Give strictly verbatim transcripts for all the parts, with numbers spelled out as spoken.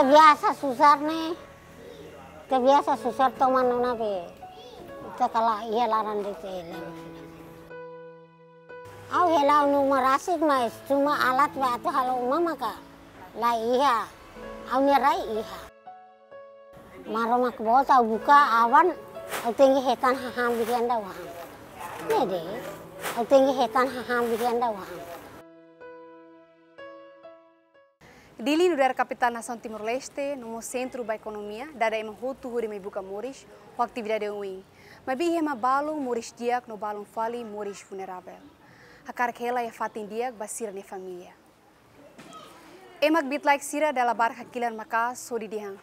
Biasa susar ne'e, ita biasa susar toman ona be. Ita kala iha laran de'it hela. Ha'u hela anu uma rasik, mas cuma alat ba atu halo uma maka la iha. Ha'u-nia rai iha. Maromak boot ha'u buka aban, ha'u tenke hetan hahán birian dauhan. Ne'e de'it, ha'u tenke hetan hahán birian dauhan. Dili nu'udar kapitál nasaun Timor-Leste, no mós sentru ba ekonomia, dada ema hotu hodi mai buka moris, ho atividade oioin. Maibé iha ema balun moris di'ak no balun fali moris vulneravel. Hakarak hela iha fatin di'ak ba sira-nia família. Ema kbiit-laek sira dala barak hakilar maka'as hodi dehan: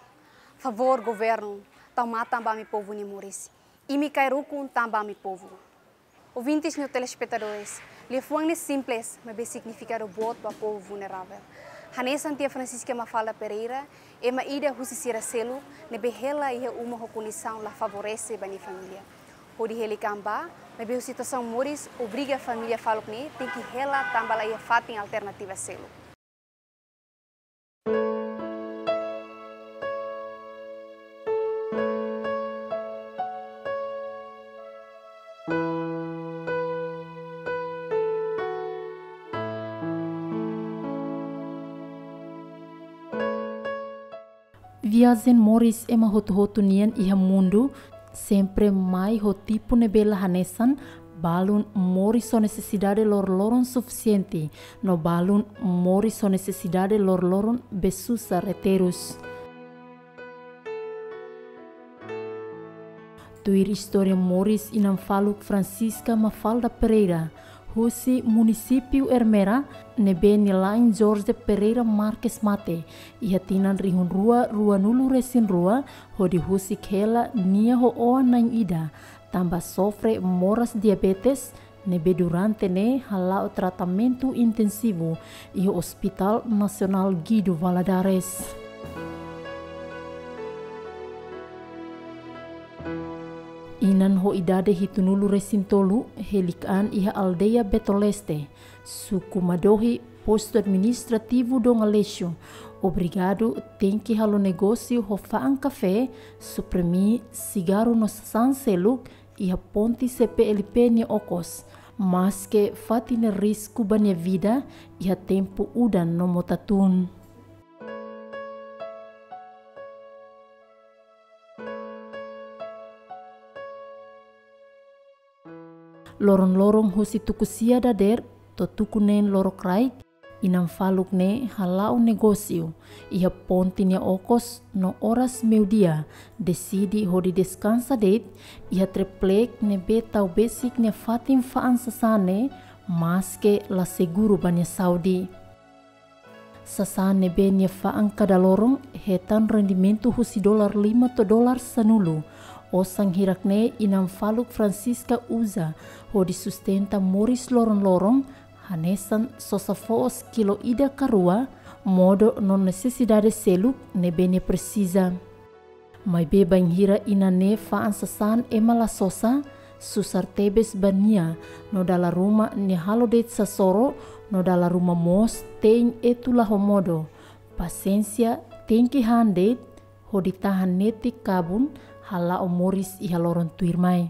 Favór governu, tau matan ba ami povu nia moris. Imi kaer ukun tanba ami povu. Ouvintes no telespetadores, liafuan ne'e simples, maibé signifikadu boot ba povu vulneravel. Hanesan Tia Francisca Mafalda Pereira, ema ida husi sira seluk ne'ebé hela iha uma ho kondisaun la favorese ba nia família. Hodi hela iha-ne'ebá, maibé husi situasaun moris obriga família faluk ne'e tenke hela tanba la iha fatin alternativa seluk. Viajen moris ema hotu-hotu nian iha mundu, sempre mai ho tipu ne'ebé la hanesan, balun moris ho nesesidade loroloron sufisiente, no balun moris ho nesesidade loroloron be susar terus. Tuir istória moris inan faluk Francisca Mafalda Pereira, husi munisípiu Ermera, ne'ebé nia la'en Jorge Pereira Marques mate iha tinan rihun rua ruanulu-resin-rua, hodi husik hela nia ho oan-na'in ida, tanba sofre moras diabetes, ne'ebé durante ne'e hala'o tratamentu intensivu iha Hospital Nasionál Guido Valadares. Inan ho idade hitunulu-resin-tolu, hela iha-ne'ebá iha aldeia Beto Leste, suku Madohi, postu administrativu Dom Aleixo, obrigadu tenke halo negósiu ho fa'an kafé, suprimi, sigarru no sasán seluk, iha ponte C P L P nia okos, maske fatin ne'e risku ba nia vida, iha tempu udan no mota-tun. Loron-loron husi tuku sia dadeer to'o tuku neen lorokraik, inan faluk ne'e hala'o negósiu iha ponte nia okos no oras meiudia, deside hodi deskansa de'it iha triplek ne'ebé tau besik nia fatin fa'an sasán ne'e, maske la seguru ba nia saúde. Sasán ne'ebé nia fa'an kada loron hetan rendimentu husi dolar lima to'o dolar sanulu. Osan hirak-ne'e inan faluk Francisca uza hodi sustenta moris loron-loron, hanesan sosa foos kilo ida ka rua, modo no nesesidade seluk ne'ebé nia presiza. Maibé bainhira inan ne'e fa'an sasán ema la sosa, susar tebes ba nia, no dala ruma nia halo de'it sasoro, no dala ruma mós te'in etu la ho modo. Pasiénsia tenke han de'it, hodi tahan netik kabun, hala'o moris iha loron tuirmai.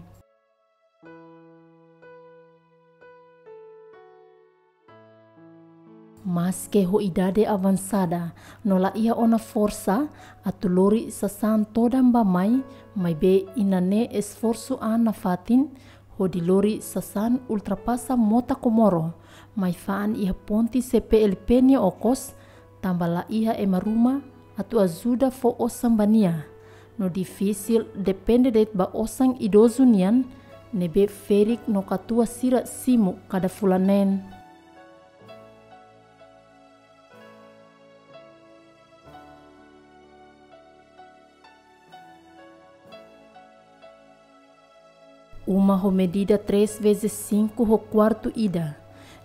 Maske ho idade avansada, no la iha ona forsa atu lori sasán todan bá-mai, maibé inan ne'e esforsu an nafatin, hodi lori sasán ultrapasa mota Komoro, mai fa'an iha ponte C P L P nia okos, tanba la iha ema ruma atu ajuda fó osan ba nia. No difisil depende de'it ba osan idozu nian, ne'ebé ferik no katuas sira simu kada fulan neen. Uma ho medida três vezes cinco ho kuartu ida,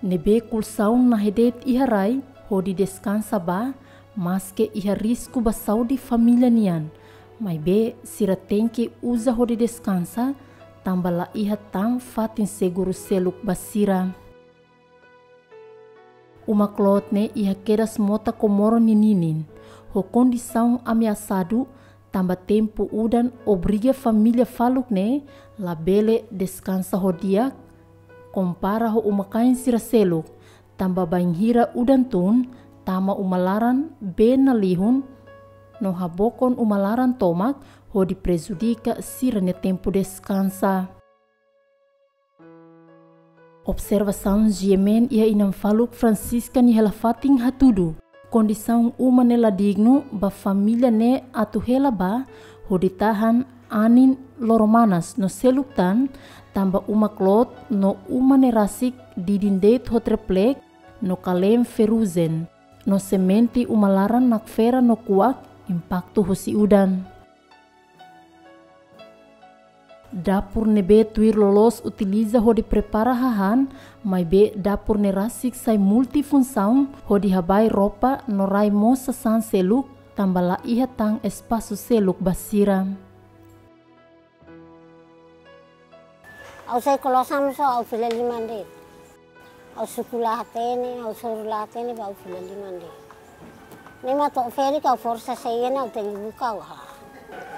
ne'ebé kolxaun nahe de'it iha rai hodi deskansa bá, maske iha risku ba saúde família nian. Maibé sira tenke uza hodi deskansa, tanba la iha tan fatin seguru seluk ba sira. Uma kloot ne'e iha kedas mota Komoro nia ninin. ho kondisaun ameasadu, tanba tempu udan obriga família faluk ne'e labele deskansa ho di'ak, kompara ho uma-kain sira seluk, tanba bainhira udan tun, tama uma laran, bee nalihun, no habokon uma laran tomak, hodi prejudika sira-nia tempu deskansa. Observasaun GMN iha inan faluk Francisca nia hela-fatin hatudu, kondisaun uma ne'e la dignu ba família ne'e atu hela ba hodi tahan anin loro-manas no seluk tan, tanba uma kloot no uma ne'e rasik didin de'it ho triplek no kale'en ferrujen, no semente uma laran nakfera no kuak impaktu husi udan. Dapur ne'ebé tuir loloos utiliza hodi prepara hahán, maibé dapur ne'e rasik sai multifunsaun hodi habai ropa no rai mós sasán seluk, tanba la iha tan espasu seluk ba sira. Ha'u sai kolosa mós ha'u fila liman de'it. Ha'u suku la hatene, ha'u soru la hatene, ba ha'u fila liman de'it. Ne'e mak to'o ferik ha'u forsa sei iha ne'e ha'u tenke buka ha'u hahán.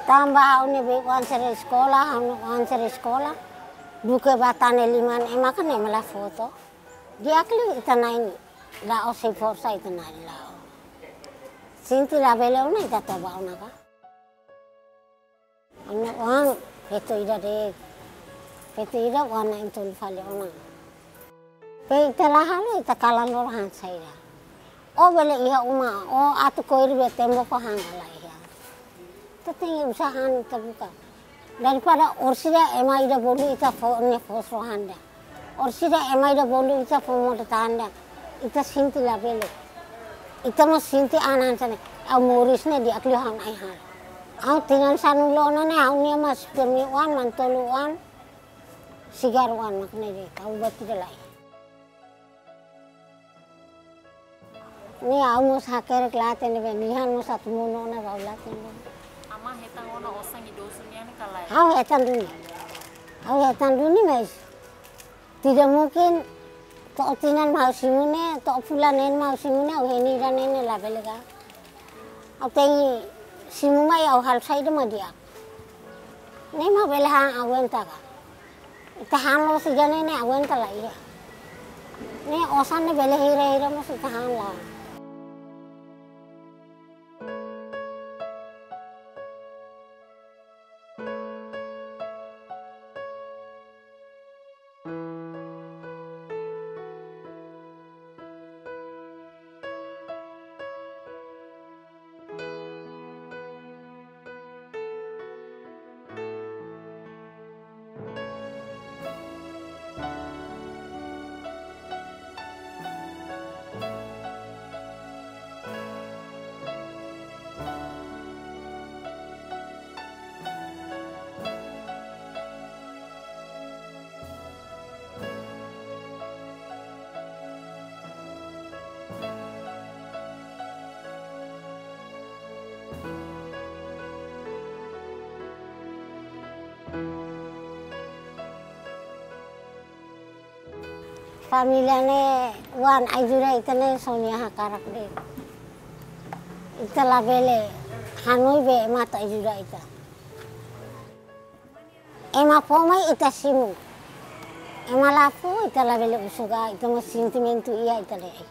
Tanba ha'u-nia be oan sira eskola, ha'u-nia oan sira eskola. Duké ba tane liman ema kan ne'e mak la fó to'o. Di'ak liu ita-nia ne'e. La'ós sei forsa ita-nia ne'e la'o. Sente labele ona ita toba ona ka. Ha'u-nia oan feto ida de'it. Feto ida oan na'in-tolu fali ona. Be ita la halo ita kalan loro han saida. Ó bele iha uma, ó atu koir be tembok hahán la iha. Ita tenke usaha han ita buka. Daripada orsida ema ida bolu ita fó nia fó so handa. Orsida ema ida bolu ita fó modo tanda. Ita sente labele. Ita mós sente an hanesan ne'e. Ha'u moris ne'e di'ak liu ha'u-nia ai-han. Ha'u tinan sanulu ona ne'e ha'u-nia mós permi oan, manu-tolu oan, sigar oan mak ne'e de'it. Ha'u buat ida lai. Ne'e ha'u mós hakerek la hatene be nia han mós atu monu ona ba ha'u la hatene. Ama hetan ona osan idozu nian ka lae? Ha'u hetan duni. Ha'u hetan duni mais. Tidak mungkin to'o tinan mak ha'u simu ne'e, to'o fulan neen mak ha'u simu ne'e, ha'u hein ida-ne'e ne'e labele ka. Ha'u tenke simu mai ha'u halo saida mak di'ak. Ne'e mak bele han aguenta ka. Ita han loos ida-ne'e ne'e aguenta la iha. Ne'e osan ne'e bele hira-hira mós ita han la. Família ne'e oan ajuda ita ne'e sonia hakarak de'it. Ita labele hanoin be ema atu ajuda ita. Ema fó mai ita simu. Ema la fó ita labele husu ka, ita mós sentimentu iha ita de'it.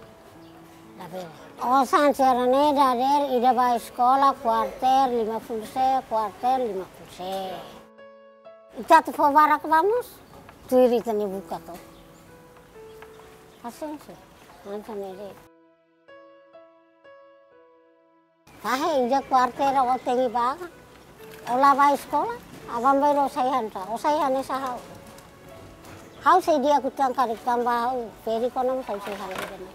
Labele. Osan sira-ne'e dadeer ida ba eskola kuarter lima puluh se, kuarter lima puluh se. Ita atu fó barak ba mós, tuir ita-nia buka to'o. Pasiénsia. Hanesan ne'e de'it. Fahe ida kuarter ó tenke ba ka. Ó la ba eskola, aban-bainrua ó sai han ka, ó sai hanesan ha'u. Ha'u sei di'ak uitoan karik tanba ha'u ferik ona mós ha'u sei han ida-ne'e.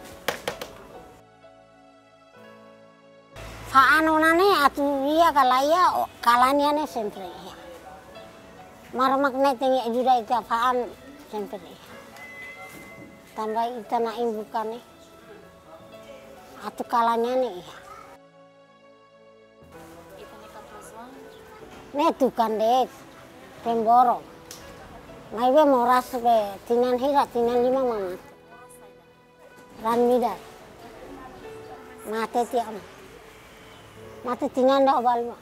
Fa'an ona ne'e atu iha ka la iha, ó, kalan iha ne'e sempre iha. Maromak ne'e tenke ajuda ita fa'an sempre iha. Tanba ita-nia buka ne'e. Atu kalan iha ne'e iha. Ne'e tukan de'it, pemboro. Maibé moras be tinan hira, tinan lima mak mate. Ran midar. Mate tiha ona. Mate tinan ida ho balu.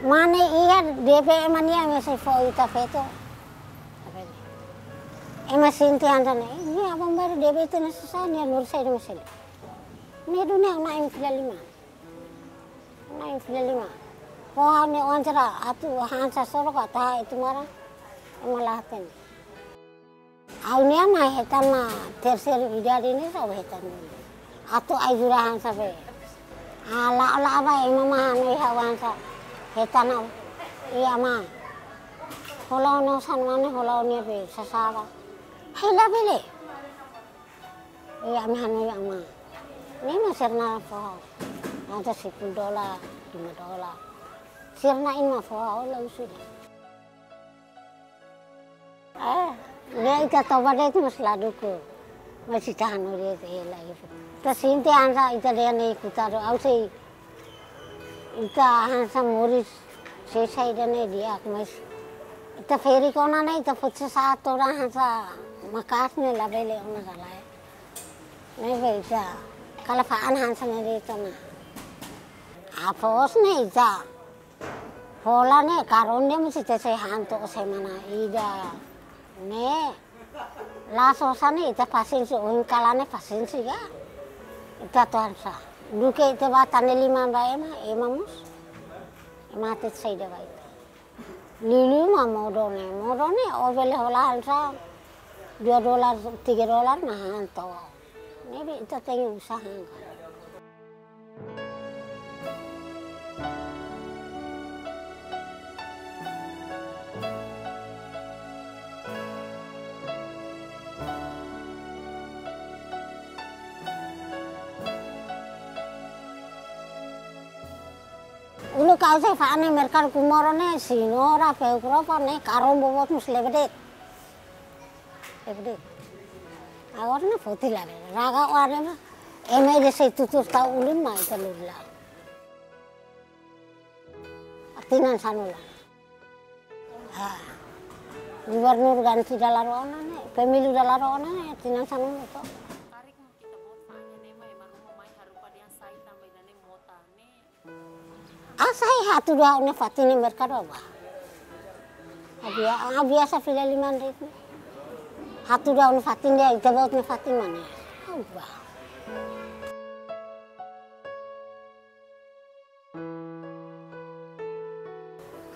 Mane iha D P ema nia mesti fó ita feto. Ema sente hanesan ne'e, nia aban baru D P ita ne'e susar, nia lori saida mesti. Ne'e duni ha'u-nia fila lima. Ha'u-nia fila lima. Foho ne'e oan sira atu hanesan soro ka taha itu mara. Ema la hatene. Ha'u-nia mai hetan mak terseira idade ne'e só hetan. Atu ajuda hanesan be. Ah, la, la ba ema mak hanoin ha'u hanesan. Hetan ha'u. Iha mak. Hola ona osan mane hola ona be sasaba. Hela bele. Iha ami hanoin mak. Ne'e mak sira-nia foho. Hanesan sepuluh dolar, lima dolar. Sira-nia mak foho, la usida. Eh, ne'e ita toba de'it mós la dukur. Mas ita hanoin de'it hela iha. Ita sente hanesan ita dehan ne'e kuta do, ha'u sei. Ita hanesan moris sei saida ne'e di'ak, mas ita ferik ona ne'e ita foti sasán todan hanesan maka'as ne'e labele ona ka lae. Ne'e be ita kala fa'an hanesan ne'e de'it ona. Após ne'e ita. Hola ne'e, karón ne'e mesti ita sei han to'o semana ida. Ne'e. La sosa ne'e, ita pasiénsia, ohin kalan ne'e pasiénsia ka. Ita atu hanesan. Duké ita bá tane liman ba ema, ema mós. Ema hatete saida ba ita. Liuliu mak modo ne'e, modo ne'e, ó bele hola hanesan. Dua dolar, tiga dolar, nah, han to'o. Ne'ebé ita tenke usaha. Uluk ha'u sei fa'an iha merkadu Comoro ne'e, señora, ferik rua ne'e, karón boboot mós lebe de'it. Lebe de'it. Agora ne'e foti la, raga ware mak. Ema ida sei tutur tau ulun mak ita lori la'o. Tinan sanulu. Ah. Gubernur ganti dala rua ona ne'e, pemilu dala rua ona ne'e, tinan sanulu to. Tarik mo kita buat fanya ne'e, mai, ema ruma mai harupa dehan sai tanba ida-ne'e mota ne'e. Ah, sai hatudu ha'u-nia fatin iha merkadu ba. Ah, bia-, ah, biasa fila liman de'it. Hatudu ha'u-nia fatin dehan ita-boot nia fatin mak ne'e. Ah, ba.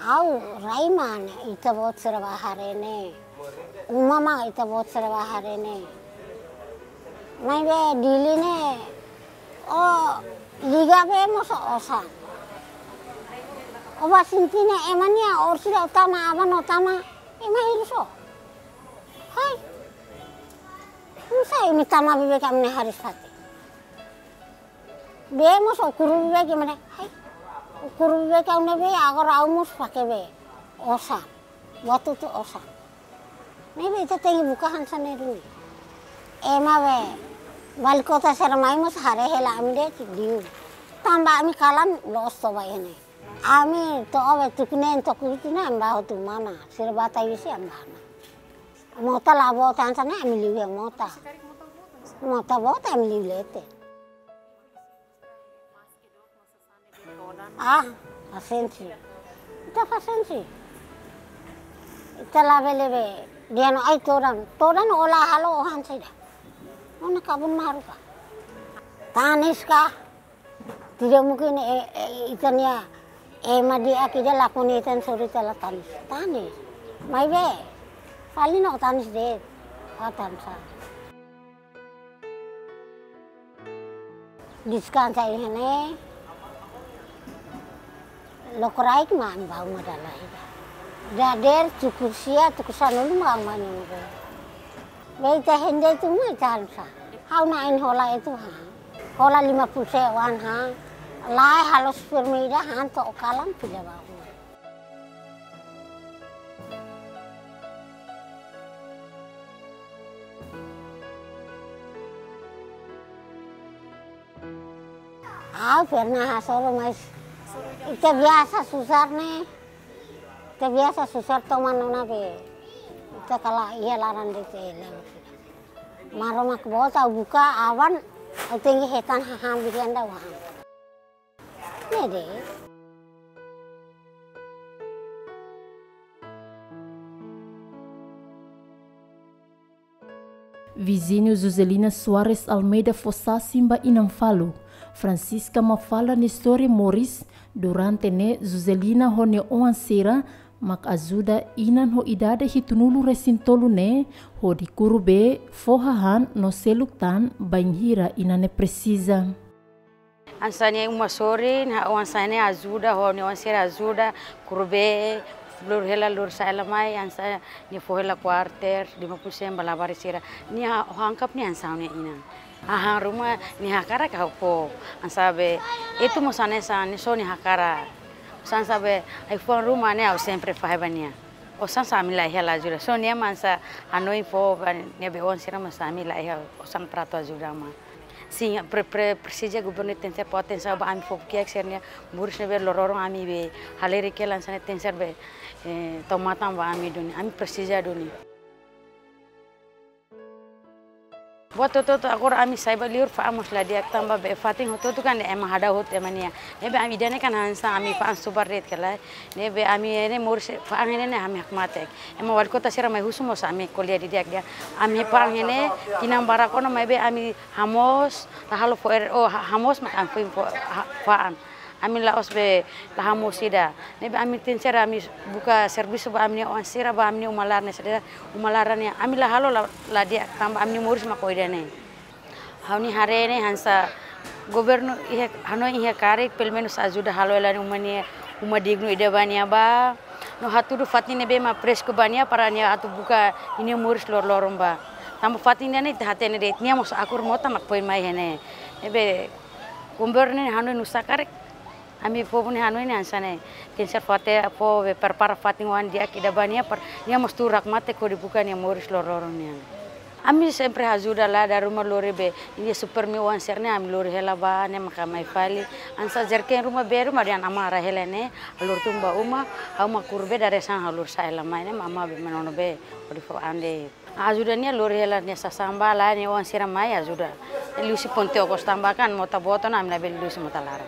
Ha'u rai mak ne'e, ita-boot sira bá haree ne'e. Uma mak ita-boot sira bá haree ne'e. Maibé Dili ne'e, ó liga be mós osan. Ó bá sente ne'e ema nia orsida ó tama, aban ó tama, ema hirus ó. Hai. Nusá imi tama beibeik ami-nia hariis fatin. Be mós ó kuru beibeik ema ne'e. Hai. Ó kuru beibeik ha'u ne'ebé, agora ha'u mós fake be. Osan. Buat hotu osan. Ne'ebé ita tenke buka hanesan ne'e duni. Ema be. Wali kota sira mai mós haree hela ami de'it liu. Tanba ami kalan loos toba iha ne'e. Ami to'o be tuku neen to'o kuitu ne'e ami bá hotu mana. Sira bá tau husi ami bá ona. Mota la boot hanesan ne'e ami liu iha mota. Mota boot ami liu leten. Ah, pasiénsia. Ita pasiénsia. Ita labele be dehan ó ai todan. Todan ó la halo ó han saida. Ó-nia kabun mak haruka. Tanis ka. Tidak mungkin, eh, eh, ita-nia, eh, ema di'ak ida lakon ita-nia sorin ita la tanis. Tanis. Maibé. Fali no tanis de'it. Ó tanis sa. Deskansa iha ne'e. Lokraik mak bá uma dala ida. Dadeer tuku sia, tuku sanulu mak uma nunu be. Be ita hende itu mak ita halusa. Ha'u na'in hola itu ha. Hola lima puluh sewan ha. Lae halo supir ida han to'o kalan fila bá uma. Ha'u pernah hasoru, mas ita biasa susar ne'e. Ita biasa susar toman ona be. Ita Sekolah iha laran de'it. Maromak bota buka awan, au tenke hetan hahán birian da wahan. Ne'e de'it. Vizinho Joselina Soares Almeida fó sasin ba inan faluk Francisca Mafalda nia istória moris. Durante ne'e Joselina ho nia oan sira mak ajuda inan ho idade hitunulu resin tolu ne'e hodi kuru bee, fó hahán no seluk tan bainhira inan ne'e presiza. Hanesan nia uma sorin, ha'u hanesan ne'e ajuda, ho nia oan sira ajuda, kuru bee, lori hela, lori sa'e hela mai, hanesan nia fó hela kuarter, lima puluh sen ba labarik sira. Nia ha-, ha'u angkap nia hanesan nia inan. Hahán ruma nia hakarak ha'u fó, hanesan be, itu mós hanesan, nia só nia hakarak. Hanesan be, ai-fuan ruma ne'e ha'u sempre fahe ba nia. Osan sá ami la iha la ajuda. Só nia mak hanesan hanoin fó ba nia be oan sira mak hanesan ami la iha osan para atu ajuda mak. Sin, pre-, pre-, presiza governu tenke fó atensaun ba ami fofokiak sira-nia moris ne'ebé loroloron ami be halerik hela hanesan ne'e tenke ser be, eh, tau matan ba ami duni. Ami presiza duni. Buat hotu-hotu agora ami sai ba liur fa'an mós la di'ak tanba be fatin hotu-hotu kan ema hadau hotu ema nia. Ne'ebé ami ida-ne'e kan hanesan ami fa'an subar de'it ka lae. Ne'ebé ami ne'e moris fa'an ne'e ne'e ami hakmatek. Ema wali kota sira mai husu mós ami ko'alia didi'ak dehan. Ami fa'an ne'e tinan barak ona maibé ami hamoos, la halo fo'er, oh, ha-, hamoos mak ami foin fó, ha-, fa'an. Ami la'ós be la hamoos ida. Ne'ebé ami tenke ser ami buka servisu ba ami-nia oan sira ba ami-nia uma laran ne'e sira, uma laran ne'e ami la halo la, la di'ak tanba ami-nia moris mak ho ida-ne'e. Ha'u-nia haree ne'e hanesan governu iha, hanoin iha karik, pelumenus ajuda halo hela nia uma ne'e, uma dignu ida ba nia ba. No hatudu fatin ne'ebé mak presku ba nia para nia atu buka ninia moris loroloron ba. Tanba fatin ida-ne'e ita hatene de'it nia mós akur mota mak foin mai iha ne'e. Ne'ebé governu ne'e hanoin nu'usá karik. Ami povu ne'e hanoin ne'e hanesan ne'e. Tenke ser fó atensaun, fó be prepara fatin oan di'ak ida ba nia para nia mós tuur hakmatek hodi buka nia moris loroloron nian. Ami sempre ajuda la dala ruma lori be, nia super mi oan sira ne'e ami lori hela ba, ne'e maka mai fali. Hanesan jerken ruma be ruma dehan amá rai hela ne'e, ha'u lori tun ba uma, ha'u mak kuru be dadeer-saan ha'u lori sa'e hela mai ne'e, amá be manono be, hodi fó an de'it. Ajuda nia lori hela nia sasán ba la nia oan sira mai ajuda. Liuhusi ponte okos tanba kan mota boot ona ami labele liuhusi mota laran.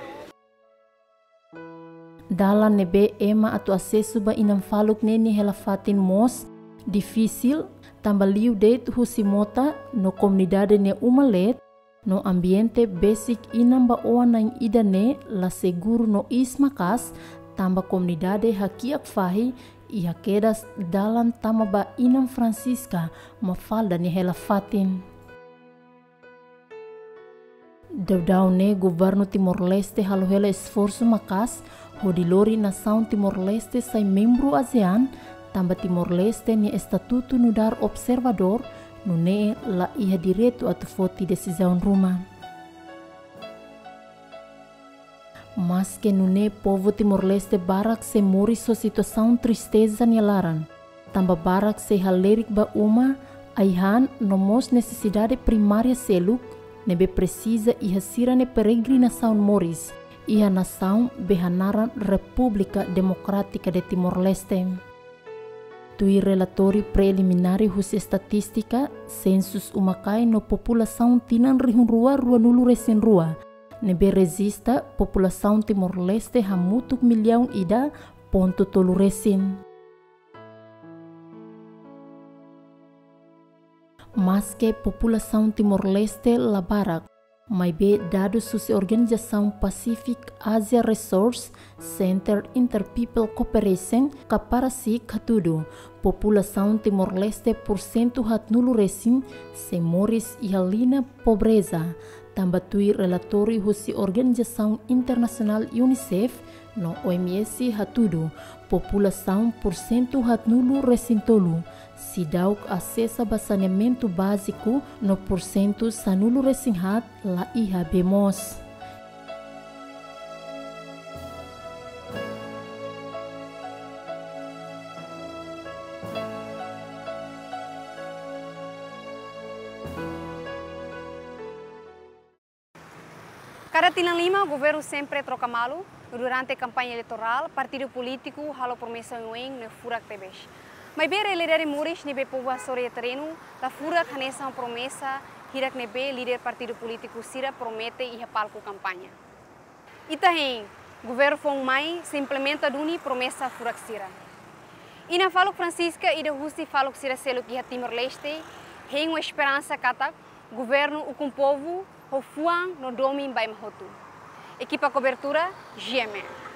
Dalan ne'ebé ema atu asesu ba inan faluk ne'e nia hela fatin mós difisil, tanba liu de'it husi mota no komunidade nia uma leet, no ambiente besik inan ba oan na'in ida ne'e la seguru no iis maka'as, tanba komunidade hakiak fahi iha kedas dalan tama ba inan Francisca Mafalda nia hela fatin. Daudaun ne'e governu Timor-Leste halo hela esforsu maka'as hodi lori nasaun Timor-Leste sai membru ASEAN, tanba Timor-Leste nia estatutu nu'udar observadór, nune'e la iha direitu atu foti desizaun ruma. Maske nune'e povu Timor-Leste barak sei moris ho situasaun tristeza nia laran. Tanba barak sei halerik ba uma, ai-han no mós nesesidade primária seluk, ne'ebé presiza iha sira-nia peregrinasaun moris, iha nasaun be hanaran Repúblika Demokrátika de Timor-Leste. Tuir relatóriu preliminár husi estatístika, sensus uma-kain no populasaun tinan rihun rua ruanulu resin rua, ne'ebé rejista populasaun Timor-Leste hamutuk millaun ida pontu tolu resin. Maske populasaun Timor-Leste la barak, maibé dadus husi organizasaun Pacific Asia Resource Center Interpeople Cooperation ka PARACIC hatudu, populasaun Timor-Leste pursentu haatnulu resin sei moris iha liña pobreza, tanba tuir relatóriu husi organizasaun internasionál UNICEF no OMS hatudu, populasaun pursentu haatnulu resin tolu seidauk asesa ba saneamentu báziku no pursentu sanulu resin haat la iha bee moos. Kada tinan lima, governu sempre troka malu. Durante kampaña eleitorál, partidu polítiku halo promesa oioin no furak tebes. Maibé realidade moris ne'ebé povu hasoru iha terrenu la furak hanesan promesa hirak ne'ebé líder partidu polítiku sira promete iha palku kampaña. Ita hein, governu foun mai sei implementa duni promesa furak sira. Inan faluk Francisca ida husi faluk sira seluk iha Timor-Leste hein ho esperansa katak governu ukun povu ho fuan no domin ba ema hotu. Ekipa kobertura, G M N.